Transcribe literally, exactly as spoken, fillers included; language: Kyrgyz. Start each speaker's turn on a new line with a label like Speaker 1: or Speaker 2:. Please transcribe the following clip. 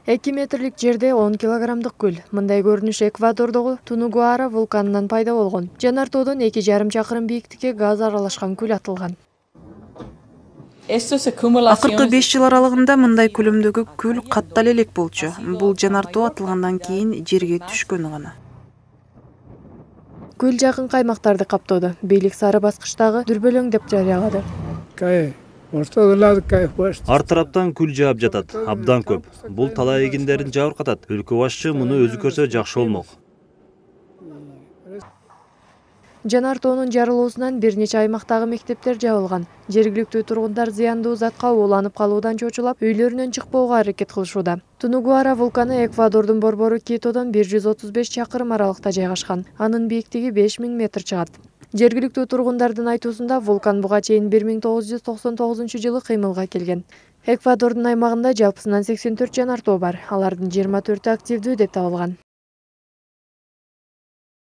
Speaker 1: эки метрлик жерде он килограммдык күл. Мындай көрүнүш Эквадордогу Тунугуара вулканынан пайда болгон. Жанар тоодон эки жарым чакырым бийиктикке газ аралашкан күл атылган.
Speaker 2: Акыркы беш жыл аралыгында мындай көлөмдөгү күл каттала элек болчу. Бул жанар тоо атылгандан кийин жерге түшкөнү гана.
Speaker 1: Күл жакынкы аймактарды каптоодо. Бийлик сары баскычтагы дүрбөлөң деп жарыялады.
Speaker 3: Ар тараптан күл жаап жатат, абдан көп. Бул талай эгиндерин жабыркатат. Өлкө башчы муну өзү көрсө жакшы болмок.
Speaker 1: Жанар тоонун жарылуусунан бир нече аймактагы мектептер жабылган. Жергиликтүү тургундар зыяндуу затка ууланып калуудан чочулап, үйлөрүнөн чыкпоого аракет кылышууда. Тунугуара вулканы Эквадордун борбору Китодон бир жүз отуз беш чакырым аралыкта жайгашкан. Анын бийиктиги беш миң метр чыгат. Жергиликтүү тургундардын айтуусунда вулкан буга чейин бир миң тогуз жүз токсон тогузунчу жылы кыймылга келген. Эквадордун аймагында жалпысынан сексен төрт жанар тоо бар. Алардын жыйырма төртү активдүү деп табылган.